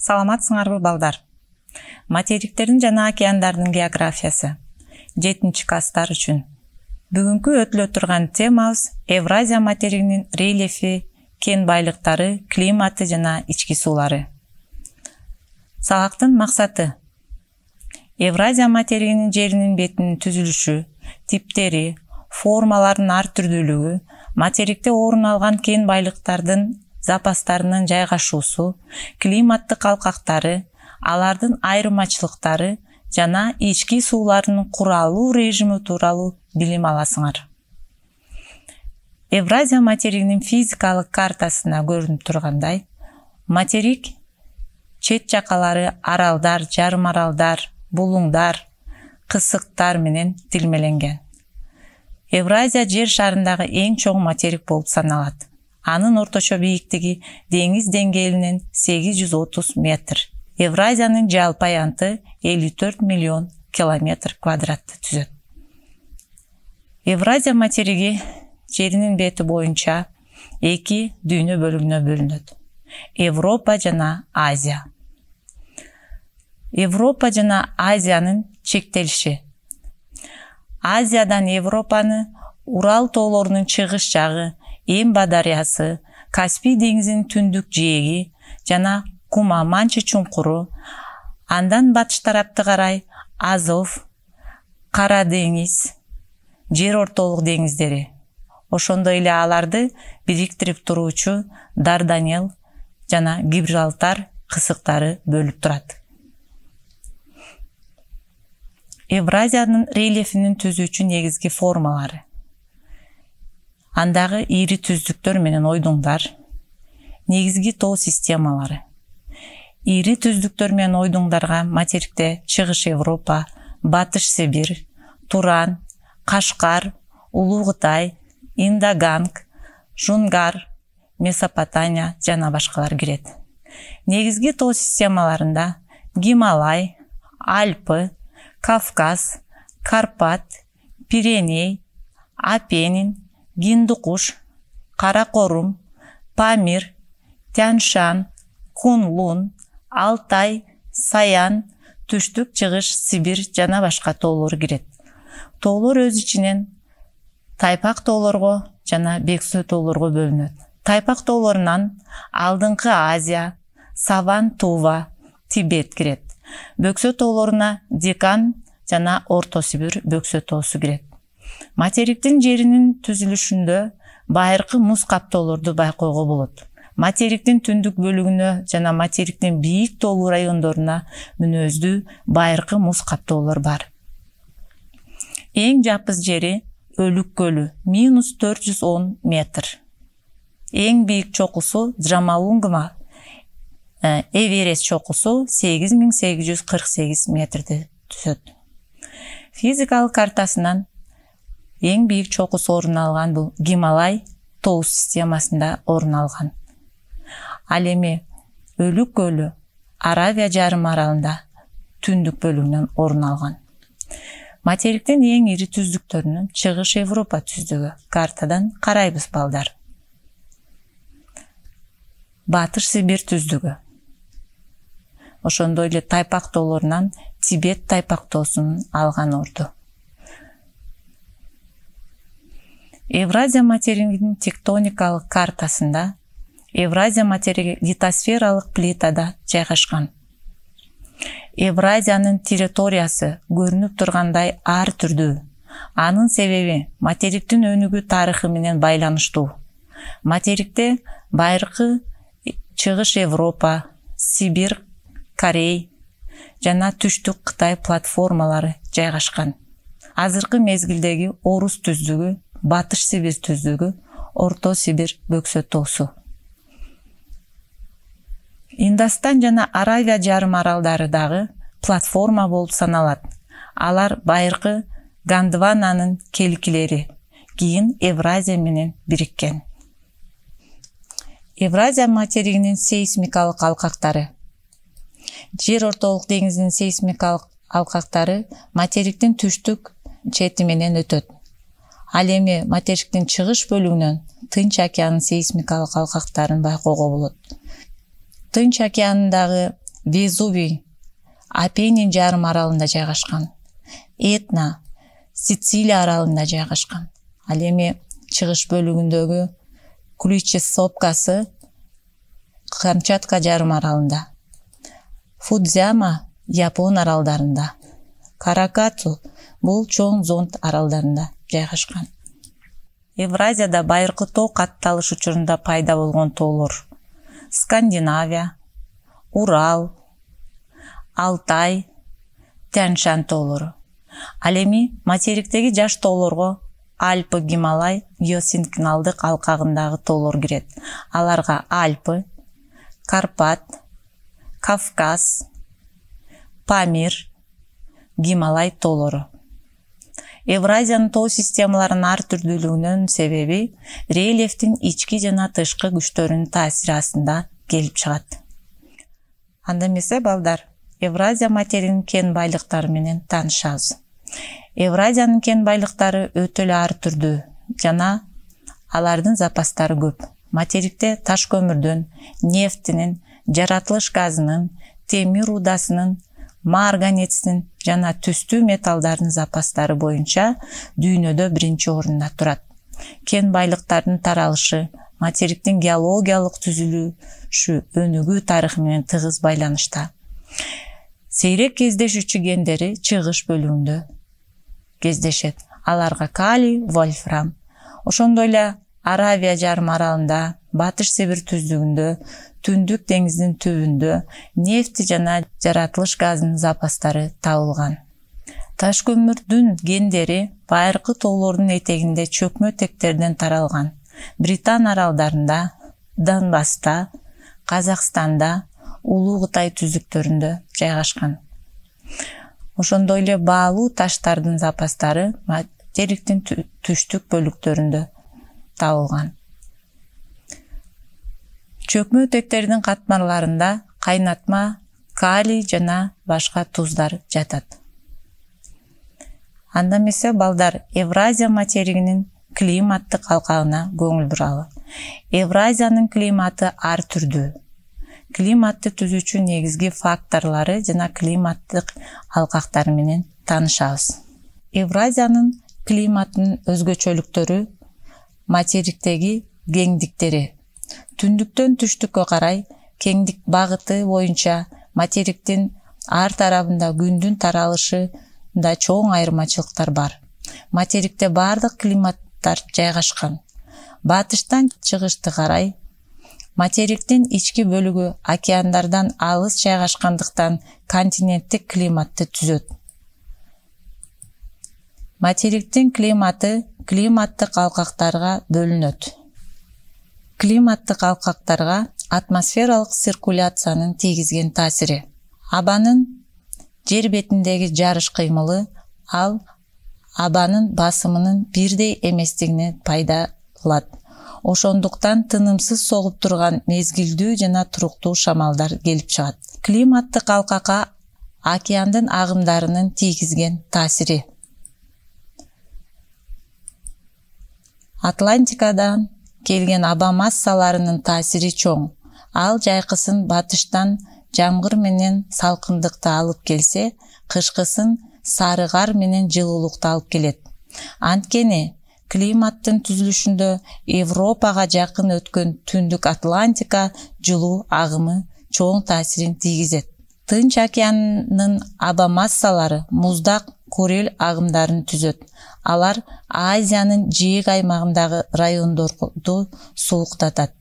Саламатсыңарбы балдар? Материктердин жана океандардын географиясы 7 класстар үчүн. Бүгүнкү өтүлө турган темабыз Евразия материгинин рельефи, кен байлыктары, климаты жана ички суулары. Сабактын максаты: Евразия материгинин жеринин бетинин түзүлүшү, типтери, формаларынын ар түрдүүлүгү, материкте орун алган кен байлыктардын запастарынын жайгашуусу, климаттык алкактары, алардын айырмачылыктары жана ички сууларынын куралуу режими тууралуу билим аласыңар. Евразия материгинин физикалык картасына көрүнүп тургандай, материк чет жакалары аралдар, жарым аралдар, булуңдар, кысыктар менен тилмеленген. Евразия жер шарындагы эң чоң материк болуп саналат. Анын орточо бийиктиги деңиз деңгээлинен 830 метр. Евразиянын жалпы аянты 54 миллион километр квадратты түзөт. Евразия материги жеринин бети боюнча 2 дүйнө бөлүгүнө бөлүнөт. Европа жана Азия. Европа жана Азиянын чектелиши. Азиядан Европаны Урал тоолорунун чыгыш жагы, Эмба дарыясы, Каспий деңизинин түндүк жээги жана Кума-Манчы чуңкуру, андан батыш тарапты карай Азов, Кара деңиз, Жер ортолук деңиздери. Ошондой эле аларды бириктирип туруучу Дарданелл жана Гибралтар кысыктары бөлүп турат. Евразиянын рельефинин түзүүчү негизги формалары. Андагы ири түздүктөр менен ойдуңдар, негизги тоо системалары. Ири түздүктөр менен ойдуңдарга материкте Чыгыш Европа, Батыш Сибир, Туран, Кашкар, Улуу Кытай, Индаганг, Жунгар, Месопотамия жана башкалар кирет. Негизги тоо системаларында Гималай, Альпы, Кавказ, Карпат, Пиреней, Апенин, Гиндукуш, Каракорум, Памир, Тянь-Шань, Кунлун, Алтай, Саян, Түштүк Чыгыш, Сибир жана башка тоолор кирет. Тоолор өз ичинен тайпак тоолорго жана бексө тоолорго бөлүнөт. Тайпак тоолорунан алдыңкы Азия, Саван, Тува, Тибет кирет. Бөксө тоолоруна Декан жана Орто Сибир бөксө тоосу кирет. Материктин жеринин түзүлүшүндө байыркы муз каптоолорду байкоого болот. Материктин түндүк бөлүгүнө жана материктин бийик тоолуу райондоруна мүнөздүү байыркы муз каптоолор бар. Эң жапыз жери Өлүк көлү -410 метр. Эң бийик чокусу Джамалунгма, Эверест чокусу 8848 метрди түзөт. Физикалык картасынан эң бийик чокусу орун алган бул Гималай тоо системасында орун алган. Ал эми Өлүк көлү Аравия жарым аралында түндүк бөлүгүнөн орун алган. Материктин эң ири түздүктөрүнүн Чыгыш Европа түздүгү картадан карайбыз балдар. Батыш Сибир түздүгү. Ошондой эле тайпак тоолорунан Тибет тайпак тоосунун алган орду. Евразия материгинин тектоникалык картасында Евразия материги литосфералык плитада жайгашкан. Евразиянын территориясы көрүнүп тургандай ар түрдүү. Анын себеби материктин өнүгүү тарыхы менен байланыштуу. Материкте байыркы Чыгыш Европа, Сибир, Корей жана Түштүк Кытай платформалары жайгашкан. Азыркы мезгилдеги Орус түздүгү, Батыш Сибир түздүгү, Орто Сибир бөксө тоосу. Индостан жана Аравия жарым аралдары дагы платформа болуп саналат. Алар байыркы Гондвананын келкилери, кийин Евразия менен бириккен. Евразия материгинин сейсмикалык алкактары. Жер ортолук деңизинин сейсмикалык алкактары материктин түштүк чети менен өтөт. Ал эми материктин чыгыш бөлүгүнөн Тынч океанынын сейсмикалык алкактарын байкоого болот. Тынч океанындагы Везувий Апеннин жарым аралында жайгашкан. Этна Сицилия аралында жайгашкан. Ал эми чыгыш бөлүгүндөгү Куличе сопкасы Камчатка жарым аралында. Фудзяма Япон аралдарында. Каракату бул чоң зонт аралдарында жайгашкан. Евразияда байыркы тоо катталыш учурунда пайда болгон тоолор: Скандинавия, Урал, Алтай, Тянь-Шань тоолору. Ал эми материктеги жаш тоолорго Альпы, Гималай, геосинклиналдык алкагындагы тоолор кирет. Аларга Альпы, Карпат, Кавказ, Памир, Гималай тоолору. Евразиянын тоо системаларынын ар түрдүүлүгүнүн себеби рельефтин ички жана тышкы күчтөрүнүн таасири астында келип чыгат. Анда эмесе балдар, Евразия материгинин кен байлыктары менен таанышабыз. Евразиянын кен байлыктары өтө эле ар түрдүү жана алардын запастары көп. Материкте таш көмүрдүн, нефтинин, жаратылыш газынын, темир рудасынын, марганецтин жана түстүү металлдардын запастары боюнча дүйнөдө биринчи орунда турат. Кен байлыктардын таралышы материктин геологиялык түзүлүшү өнүгүү тарыхы менен тыгыз байланышта. Сейрек кездешүүчү кендери чыгыш бөлүгүндө кездешет. Аларга калий, вольфрам. Ошондой эле Аравия жарым аралында, Батыш Сибир түздүгүндө, Түндүк деңизинин түбүндө нефти жана жаратылыш газынын запастары табылган. Таш көмүрдүн кендери байыркы тоолордун этегинде чөкмө тектерден таралган. Британ аралдарында, Донбасста, Казакстанда, Улуу Кытай түздүктөрүндө жайгашкан. Ошондой эле баалуу таштардын запастары материктин түштүк бөлүктөрүндө табылган. Чөкмө тектердин катмарларында кайнатма, калий жана башка туздар жатат. Анда эмесе балдар, Евразия материгинин климаттык алкагына көңүл буралы. Евразиянын климаты ар түрдүү. Климатты түзүүчү негизги факторлору жана климаттык алкактары менен таанышабыз. Евразиянын климатынын өзгөчөлүктөрү материктеги кеңдиктери. Түндүктөн түштүккө карай кеңдик багыты боюнча материктин ар тарабында күндүн таралышында чоң айырмачылыктар бар. Материкте бардык климаттар жайгашкан. Батыштан чыгышты карай материктин ички бөлүгү океандардан алыс жайгашкандыктан континенттик климатты түзөт. Материктин климаты климаттык алкактарга бөлүнөт. Климаттык алкактарга атмосфералык циркуляциянын тийгизген таасири. Абанын жер бетиндеги жарыш кыймылы ал абанын басымынын бирдей эместигине пайда кылат. Ошондуктан тынымсыз согуп турган мезгилдүү жана туруктуу шамалдар келип чыгат. Климаттык алкакка океандын агымдарынын тийгизген таасири. Атлантикадан келген аба массаларынын таасири чоң. Ал жайкысын батыштан жамгыр менен салкындыкты алып келсе, кышкысын сары кар менен жылуулукту алып келет. Анткени климаттын түзүлүшүндө Европага жакын өткөн Түндүк Атлантика жылуу агымы чоң таасирин тийгизет. Тынч океанынын аба массалары муздак Курил агымдарын түзөт. Алар Азиянын жээк аймагындагы райондорду сууктатат.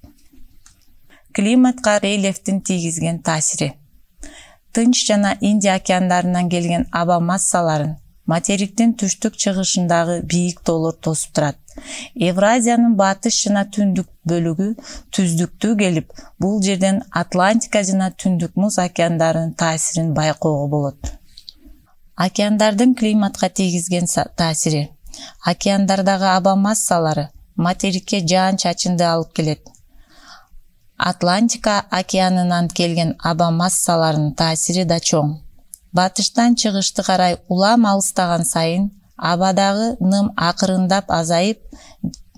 Климатка рельефтин тийгизген таасири. Тынч жана Индия океандарынан келген аба массаларын материктин түштүк чыгышындагы бийик тоолор тосуп турат. Евразиянын батыш жана түндүк бөлүгү түздүктүү келип, бул жерден Атлантика жана Түндүк муз океандарынын таасирин байкоого болот. Океандардын климатка тийгизген таасири. Океандардагы аба массалары материкке жаан-чачынды алып келет. Атлантика океанынан келген аба массаларынын таасири да чоң. Батыштан чыгышты карай улам алыстаган сайын абадагы ным акырындап азайып,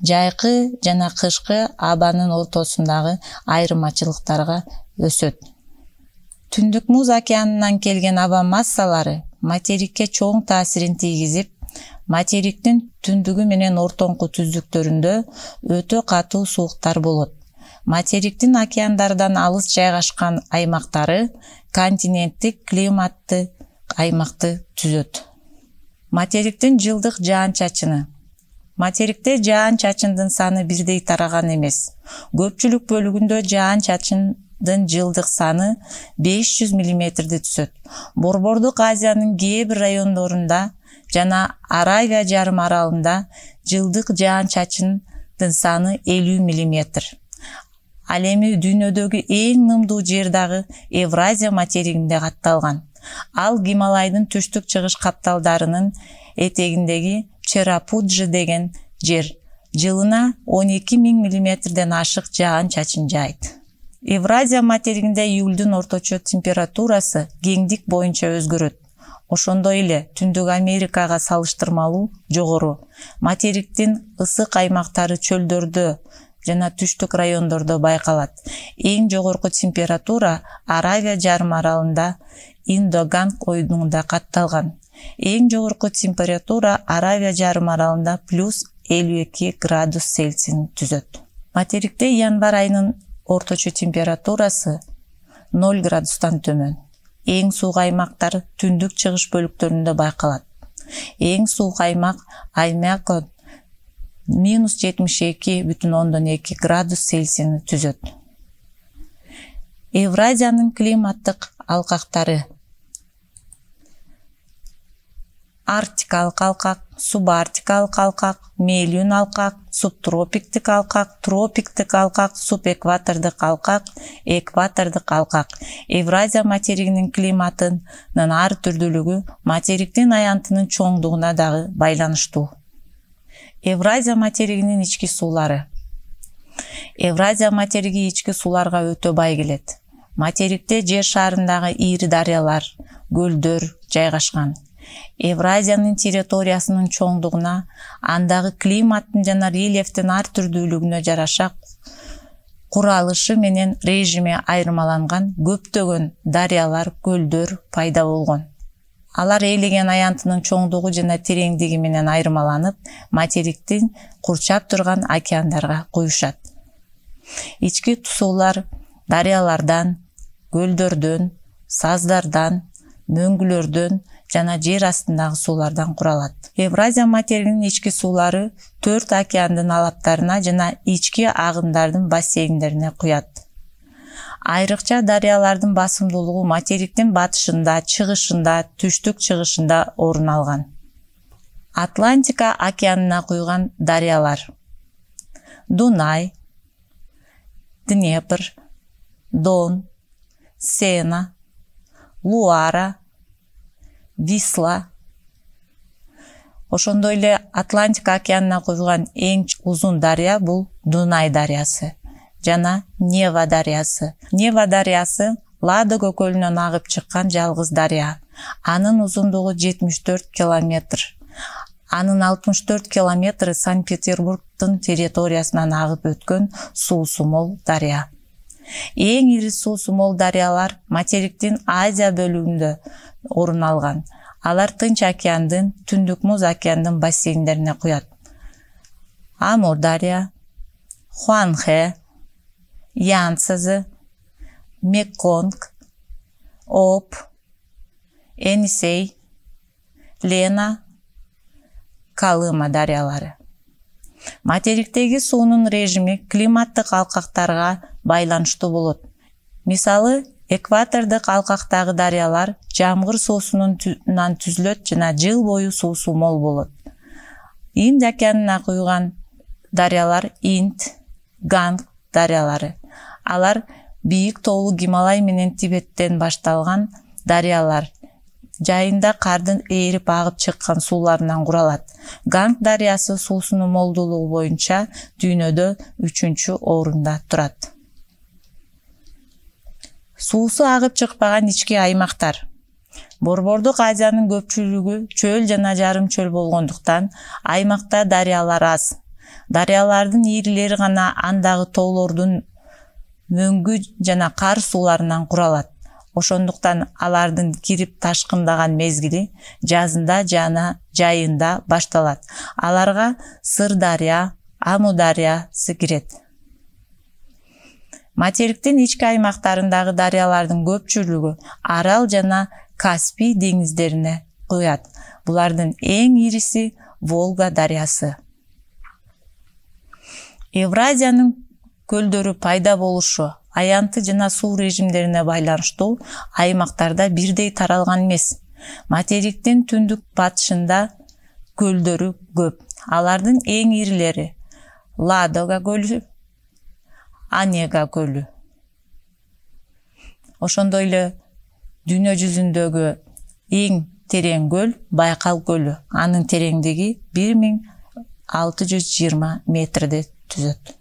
жайкы жана кышкы абанын ортосундагы айырмачылыктарга өсөт. Түндүк муз океанынан келген аба массалары материкке чоң таасирин тийгизип, материктин түндүгү менен ортоңку түздүктөрүндө өтө катуу сууктар болот. Материктин океандардан алыс жайгашкан аймактары континенттик климатты аймакты түзөт. Материктин жылдык жаан-чачыны. Материкте жаан-чачындын саны бирдей тараган эмес. Көпчүлүк бөлүгүндө жаан-чачындын жылдык саны 500 мм түзөт. Борбордук Азиянын кээ бир райондорунда жана Аравия жарым аралында жылдык жаан-чачындын саны 50 мм. Ал эми дүйнөдөгү эң нымдуу жер дагы Евразия материгинде катталган. Ал Гималайдын түштүк-чыгыш капталдарынын этегиндеги Черапуджи деген жер. Жылына 12 000 мм ашык жаан-чачын жаайт. Евразия материгинде июлдун орточо температурасы кеңдик боюнча өзгөрөт. Ошондой эле Түндүк Америкага салыштырмалуу жогору. Материктин ысык аймактары чөлдөрдө жана түштүк райондордо байкалат. Эң жогорку температура Аравия жарым аралында Индо-Ганг ойдунда катталган. Эң жогорку температура Аравия жарым аралында +52 градус Цельсийни түзөт. Материкте январь айынын орточо температурасы 0 градустан төмөн. Эң суук аймактар түндүк-чыгыш бөлүктөрүндө байкалат. Эң суук аймак Аймякон -72,2 градус Цельсийни түзөт. Евразиянын климаттык алкактары. Арктикалык алкак, субарктикалык алкак, мейлюн алкак, субтропиктик алкак, тропиктик алкак, субэкватордук алкак, экватордук алкак. Евразия материгинин климатынын ар түрдүүлүгү материктин аянтынын чоңдугуна дагы байланыштуу. Евразия материгинин ички суулары. Евразия материги ички сууларга өтө бай келет. Материкте жер шарындагы ири дарыялар, көлдөр жайгашкан. Евразиянын территориясынын чоңдугуна, андагы климаттын жана рельефтин ар түрдүүлүгүнө жараша куралышы менен режими айырмаланган көптөгөн дарыялар, көлдөр пайда болгон. Алар ээлеген аянтынын чоңдугу жана тереңдиги менен айырмаланып, материктин курчап турган океандарга куюшат. Ички суулар дарыялардан, көлдөрдөн, саздардан, мөңгүлөрдөн жана жер астындагы суулардан куралат. Евразия материгинин ички суулары 4 океандын алаптарына жана ички агымдардын бассейндерине куят. Айрыкча дарыялардын басымдуулугу материктин батышында, чыгышында, түштүк-чыгышында орун алган. Атлантика океанына куйган дарыялар. Дунай, Днепр, Дон, Сена, Луара, Висла. Ошондой эле Атлантика океанына куйган эң узун дарыя бул Дунай дарыясы жана Нева дарыясы. Нева дарыясы Ладога көлүнөн агып чыккан жалгыз дарыя. Анын узундугу 74 километр. Анын 64 километри Санкт-Петербургдун территориясынан агып өткөн суусу мол дарыя. Эң ири суусу мол дарыялар материктин Азия бөлүгүндө орун алган. Алар Тынч океандын, Түндүк муз океандын бассейндерине куят. Амур дарыя, Хуанхэ, Янцзы, Меконг, Обь, Енисей, Лена, Калыма дарыялары. Материктеги суунун режими климаттык алкактарга байланыштуу болот. Мисалы, экватордук алкактагы дарыялар жамгыр суусунан түзүлөт жана жыл бою суусу мол болот. Инд океанына куйган дарыялар Инд, Ганг дарыялары. Алар бийик тоолуу Гималай менен Тибеттен башталган дарыялар. Жайында кардын ээрип агып чыккан сууларынан куралат. Ганг дарыясы суусунун молдуулугу боюнча дүйнөдө 3-чү орунда турат. Суусу агып чыкпаган ички аймактар. Борбордук Азиянын көпчүлүгү чөл жана жарым чөл болгондуктан аймакта дарыялар аз. Дарыялардын ирилери гана андагы тоолордун мөңгү жана кар сууларынан куралат. Ошондуктан алардын кирип ташкындаган мезгили жазында жана жайында башталат. Аларга Сырдария, Амудариясы кирет. Материктин ички аймактарындагы дарыялардын көпчүлүгү Арал жана Каспий деңиздерине куят. Булардын эң ириси Волга дарыясы. Евразиянын көлдөрү пайда болушу аянты жана суу режимдерине байланыштуу аймактарда бирдей таралган эмес. Материктин түндүк батышында көлдөрү көп. Алардын эң ирилери Ладога көлү, Онега көлү. Ошондой эле дүйнө жүзүндөгү эң терең көл Байкал көлү. Анын тереңдиги 1620 метрди түзөт.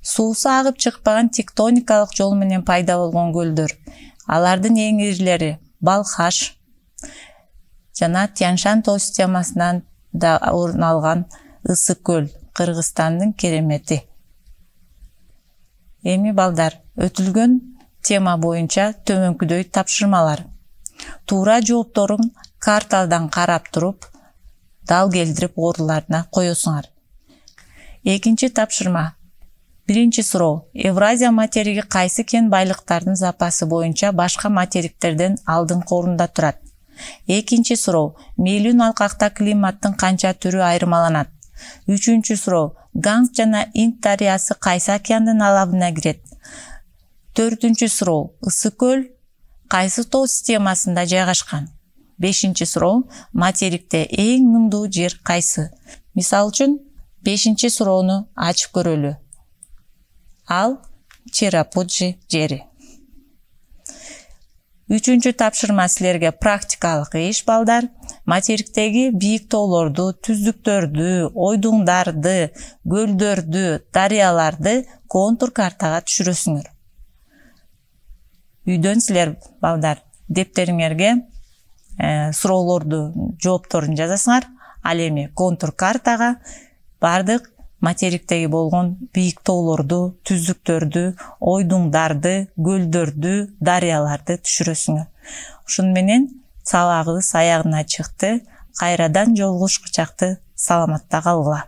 Суусу агып чыкпаган тектоникалык жол менен пайда болгон көлдөр. Алардын эң ирилери Балхаш жана Тянь-Шань тоо системасынан да орун алган Ысык көл, Кыргызстандын керемети. Эми балдар, өтүлгөн тема боюнча төмөнкүдөй тапшырмалар. Туура жоопторун картадан карап туруп, дал келтирип ордуларына коесуңар. Экинчи тапшырма. Биринчи суроо. Евразия материги кайсы кен байлыктардын запасы боюнча башка материктерден алдыңкы орунда турат? Экинчи суроо. Мейлүн алкакта климаттын канча түрү айырмаланат? Үчүнчү суроо. Ганг жана Инд дарыясы кайсы океандын алабына кирет? Төртүнчү суроо. Ысык көл кайсы тоо системасында жайгашкан? Бешинчи суроо. Материкте эң нымдуу жер кайсы? Мисал үчүн, бешинчи суроону ачып көрөлү. Ал Черапуджи жери. Үчүнчү тапшырма силерге практикалык иш балдар. Материктеги бийик тоолорду, түздүктөрдү, ойдуңдарды, көлдөрдү, дарыяларды контур картага түшүрөсүңөр. Үйдөн силер балдар дептериңерге суроолорду жоопторун жазасыңар. Ал эми контур картага бардык материктеги болгон бийик тоолорду, түздүктөрдү, ойдуңдарды, көлдөрдү, дарыяларды түшүрөсүңөр. Ушуну менен сабагыбыз аягына чыкты. Кайрадан жолугушкучакты саламатта калгыла.